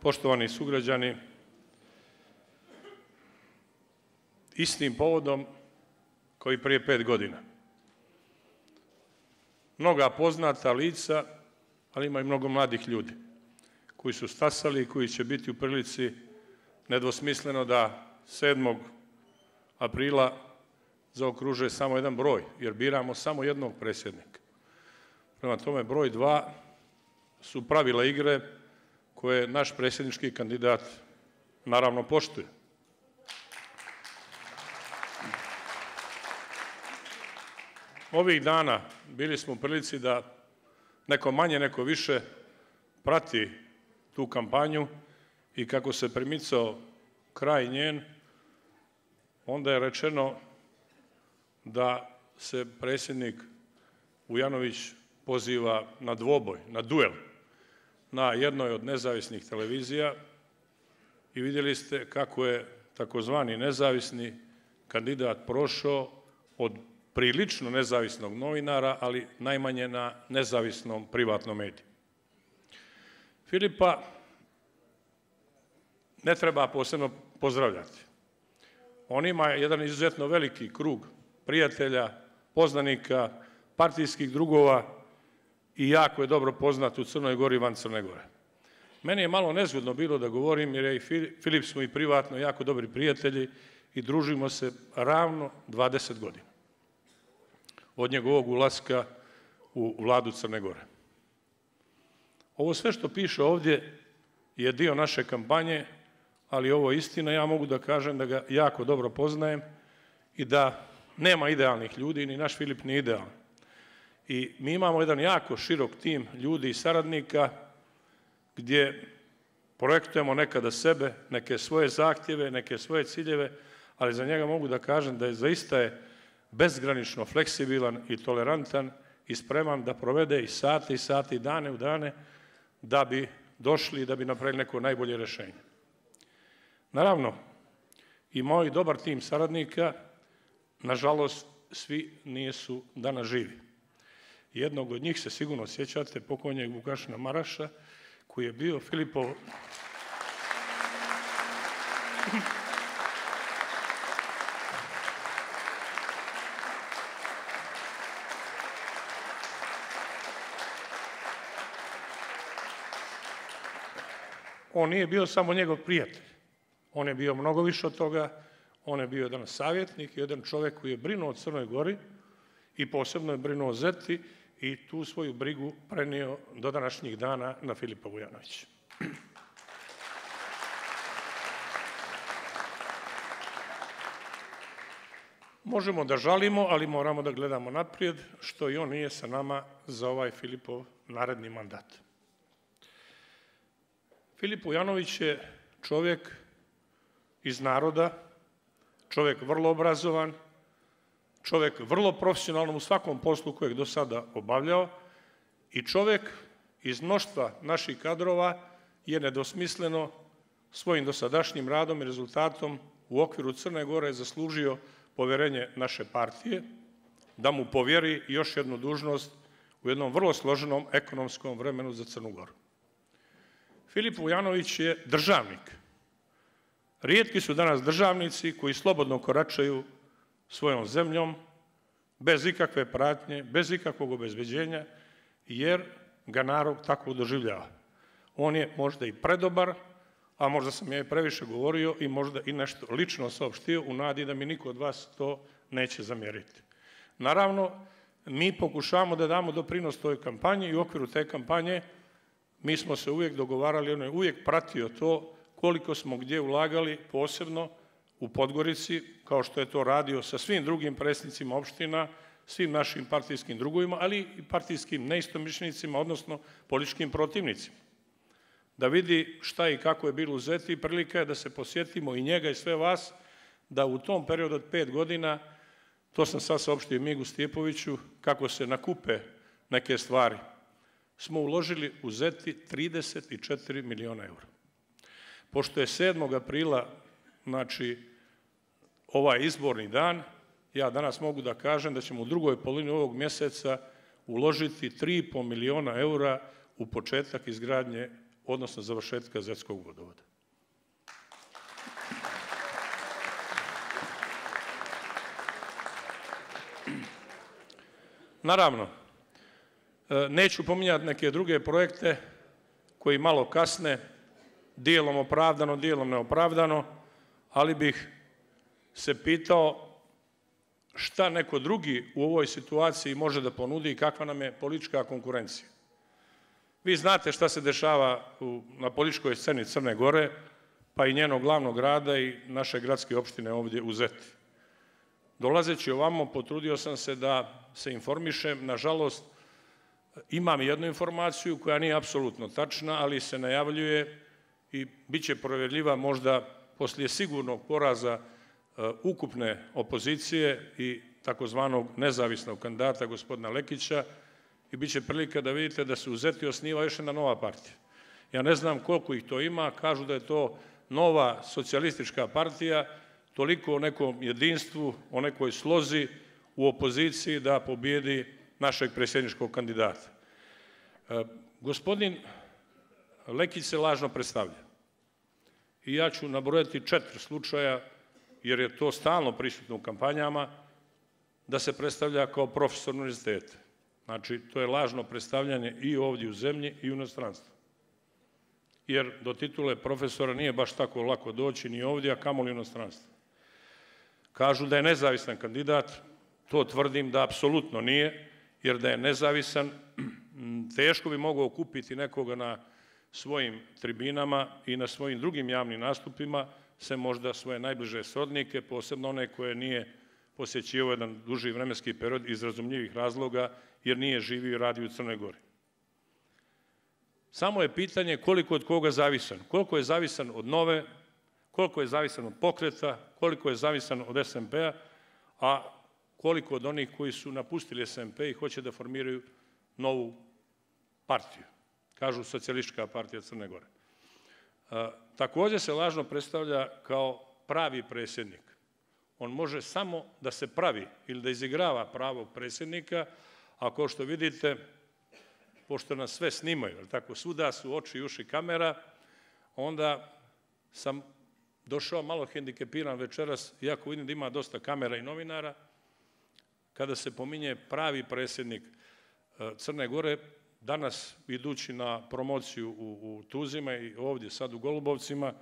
poštovani sugrađani, istim povodom kao i prije 5 godina. Mnoga poznata lica, ali ima i mnogo mladih ljudi koji su stasali i koji će biti u prilici nedvosmisleno da 7. aprila zaokruže samo jedan broj, jer biramo samo jednog predsjednika. Prema tome, broj 2 su pravila igre koje naš predsjednički kandidat naravno poštuje. Ovih dana bili smo u prilici da neko manje, neko više prati tu kampanju i kako se primicao kraj njen, onda je rečeno da se predsjednik Vujanović poziva na dvoboj, na duel, na jednoj od nezavisnih televizija i vidjeli ste kako je takozvani nezavisni kandidat prošao od prilično nezavisnog novinara, ali najmanje na nezavisnom privatnom mediju. Filipa ne treba posebno pozdravljati. On ima jedan izuzetno veliki krug prijatelja, poznanika, partijskih drugova i jako je dobro poznat u Crnoj Gori i van Crne Gore. Meni je malo nezgodno bilo da govorim, jer je i Filip smo i privatno jako dobri prijatelji i družimo se ravno 20 godina od njegovog ulaska u vladu Crne Gore. Ovo sve što piše ovdje je dio naše kampanje, ali ovo je istina. Ja mogu da kažem da ga jako dobro poznajem i da nema idealnih ljudi, ni naš Filip nije idealan. I mi imamo jedan jako širok tim ljudi i saradnika gdje projektujemo nekada sebe, neke svoje zahtjeve, neke svoje ciljeve, ali za njega mogu da kažem da je zaista bezgranično fleksibilan i tolerantan i spreman da provede i sate i dane u dane da bi došli i da bi napravili neko najbolje rješenje. Naravno, i moj dobar tim saradnika, nažalost, svi nisu danas živi. Jednog od njih se sigurno sjećate, pokojnjeg Vukašina Maraša, koji je bio Filipov... On nije bio samo njegov prijatelj. On je bio mnogo više od toga. On je bio jedan savjetnik, jedan čovjek koji je brinuo o Crnoj Gori i posebno je brinuo o Zeti i tu svoju brigu prenio do današnjih dana na Filipa Vujanovića. Možemo da žalimo, ali moramo da gledamo naprijed, što i on nije sa nama za ovaj Filipov naredni mandat. Filip Vujanović je čovjek iz naroda, čovjek vrlo obrazovan, čovjek vrlo profesionalan u svakom poslu kojeg do sada obavljao i čovjek iz mnoštva naših kadrova je nedosmisleno svojim dosadašnjim radom i rezultatom u okviru Crne Gore zaslužio povjerenje naše partije, da mu povjeri još jednu dužnost u jednom vrlo složenom ekonomskom vremenu za Crnu Goru. Filip Vujanović je državnik. Rijetki su danas državnici koji slobodno koračaju svojom zemljom, bez ikakve pratnje, bez ikakvog obezbeđenja, jer ga narod tako doživljava. On je možda i predobar, a možda sam ja i previše govorio i možda i nešto lično saopštio u nadi da mi niko od vas to neće zamjeriti. Naravno, mi pokušavamo da damo doprinos toj kampanji i u okviru te kampanje mi smo se uvijek dogovarali, on je uvijek pratio to koliko smo gdje ulagali, posebno u Podgorici, kao što je to radio sa svim drugim predsjednicima opština, svim našim partijskim drugovima, ali i partijskim neistomišljenicima, odnosno političkim protivnicima. Da vidi šta i kako je bilo u Zeti i prilika je da se posjetimo i njega i sve vas, da u tom periodu od 5 godina, to sam sad saopštio Migu Stjepoviću, kako se nakupe neke stvari, smo uložili u Zeti 34 miliona eura. Pošto je 7. aprila, znači ovaj izborni dan, ja danas mogu da kažem da ćemo u drugoj polovini ovog mjeseca uložiti 3,5 miliona eura u početak izgradnje odnosno završetka zetskog vodovoda. Naravno, neću pominjati neke druge projekte koji malo kasne, dijelom opravdano, dijelom neopravdano, ali bih se pitao šta neko drugi u ovoj situaciji može da ponudi i kakva nam je politička konkurencija. Vi znate šta se dešava na političkoj sceni Crne Gore, pa i njenog glavnog grada i naše gradske opštine ovdje u Zeti. Dolazeći ovamo, potrudio sam se da se informišem. Nažalost, imam jednu informaciju koja nije apsolutno tačna, ali se najavljuje i bit će provjerljiva možda poslije sigurnog poraza ukupne opozicije i takozvanog nezavisnog kandidata gospodina Lekića i bit će prilika da vidite da se u Zeti osniva još jedna nova partija. Ja ne znam koliko ih to ima, kažu da je to nova socijalistička partija, toliko o nekom jedinstvu, o nekoj slozi u opoziciji da pobijedi našeg predsjedničkog kandidata. Gospodin Lekić se lažno predstavlja. I ja ću nabrojati 4 slučaja, jer je to stalno prisutno u kampanjama, da se predstavlja kao profesor univerziteta. Znači, to je lažno predstavljanje i ovdje u zemlji i u inostranstvu. Jer do titule profesora nije baš tako lako doći ni ovdje, a kamoli u inostranstvu. Kažu da je nezavisan kandidat, to tvrdim da apsolutno nije, jer da je nezavisan, teško bi mogao okupiti nekoga na svojim tribinama i na svojim drugim javnim nastupima, sem možda svoje najbliže srodnike, posebno one koje nije posjećivao jedan duži vremenski period iz razumljivih razloga, jer nije živio i radio u Crnoj Gori. Samo je pitanje koliko je od koga zavisan. Koliko je zavisan od Nove, koliko je zavisan od Pokreta, koliko je zavisan od SMP-a, a koliko od onih koji su napustili SMP i hoće da formiraju novu partiju. Kažu Socijalistička partija Crne Gore. Također se lažno predstavlja kao pravi predsjednik. On može samo da se pravi ili da izigrava pravog predsjednika, a kao što vidite, pošto nas sve snimaju, tako svuda su oči i uši kamera, onda sam došao malo hendikepiran večeras, iako vidim da ima dosta kamera i novinara, kada se pominje pravi predsjednik Crne Gore, danas idući na promociju u Tuzima i ovdje sad u Golubovcima,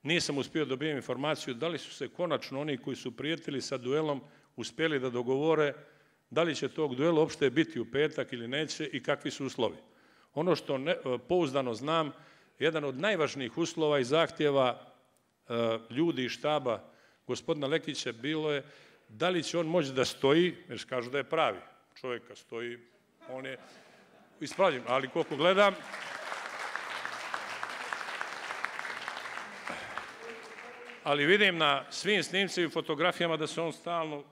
nisam uspio dobiti informaciju da li su se konačno oni koji su prijetili sa duelom uspjeli da dogovore da li će tog duela uopšte biti u petak ili neće i kakvi su uslovi. Ono što pouzdano znam, jedan od najvažnijih uslova i zahtjeva ljudi iz štaba gospodina Lekića bilo je da li će on moći da stoji, jer kažu da je pravi čovjeka, stoji, on je ispravljen, ali koliko gledam, ali vidim na svim snimcima i fotografijama da se on stalno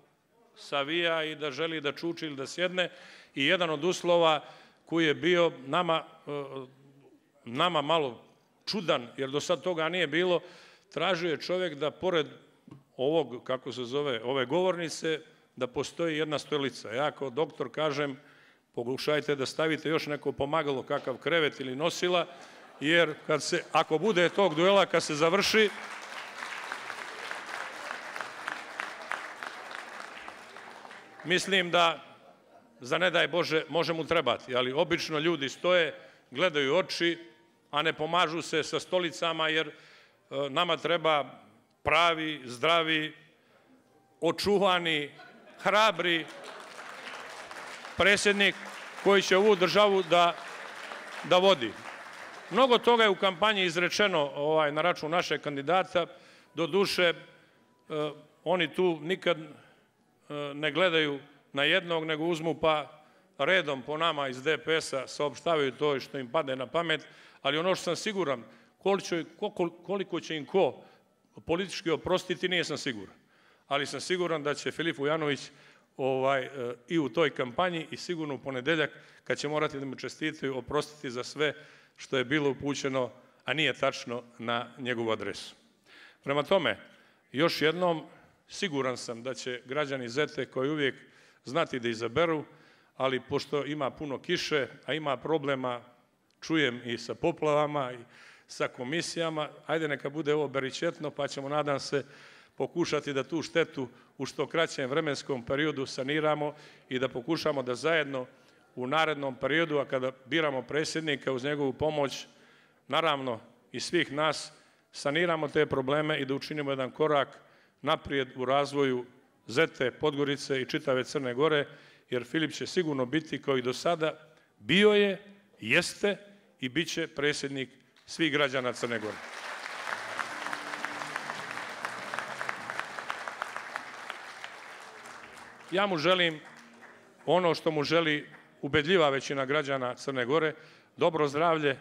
savija i da želi da čuči ili da sjedne i jedan od uslova koji je bio nama malo čudan, jer do sad toga nije bilo, tražio je čovjek da pored ovog, kako se zove, ove govornice, da postoji jedna stolica. Ja kao doktor kažem, pokušajte da stavite još neko pomagalo, kakav krevet ili nosila, jer ako bude tog duela, kad se završi, mislim da, za ne daj Bože, može mu trebati, ali obično ljudi stoje, gledaju oči, a ne pomažu se sa stolicama, jer nama treba pravi, zdravi, očuvani, hrabri predsjednik koji će ovu državu da vodi. Mnogo toga je u kampanji izrečeno na račun našeg kandidata, doduše oni tu nikad ne gledaju na jednog, nego uzmu pa redom po nama iz DPS-a saopštavaju to što im padne na pamet, ali ono što sam siguran, koliko će im ko politički oprostiti, nije sam siguran. Ali sam siguran da će Filip Vujanović i u toj kampanji i sigurno u ponedeljak, kad će morati da mu čestitaju, oprostiti za sve što je bilo upućeno, a nije tačno, na njegovu adresu. Prema tome, još jednom, siguran sam da će građani Zete koji uvijek znati da izaberu, ali pošto ima puno kiše, a ima problema čujem i sa poplavama i sa komisijama. Ajde, neka bude ovo beričetno, pa ćemo, nadam se, pokušati da tu štetu u što kraćem vremenskom periodu saniramo i da pokušamo da zajedno u narednom periodu, a kada biramo predsjednika uz njegovu pomoć, naravno i svih nas, saniramo te probleme i da učinimo jedan korak naprijed u razvoju Zete, Podgorice i čitave Crne Gore, jer Filip će sigurno biti, kao i do sada, bio je, jeste i bit će predsjednik svih građana Crne Gore. Ja mu želim ono što mu želi ubedljiva većina građana Crne Gore, dobro zdravlje,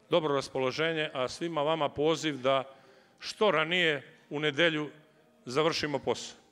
dobro raspoloženje, a svima vama poziv da što ranije u nedelju završimo posao.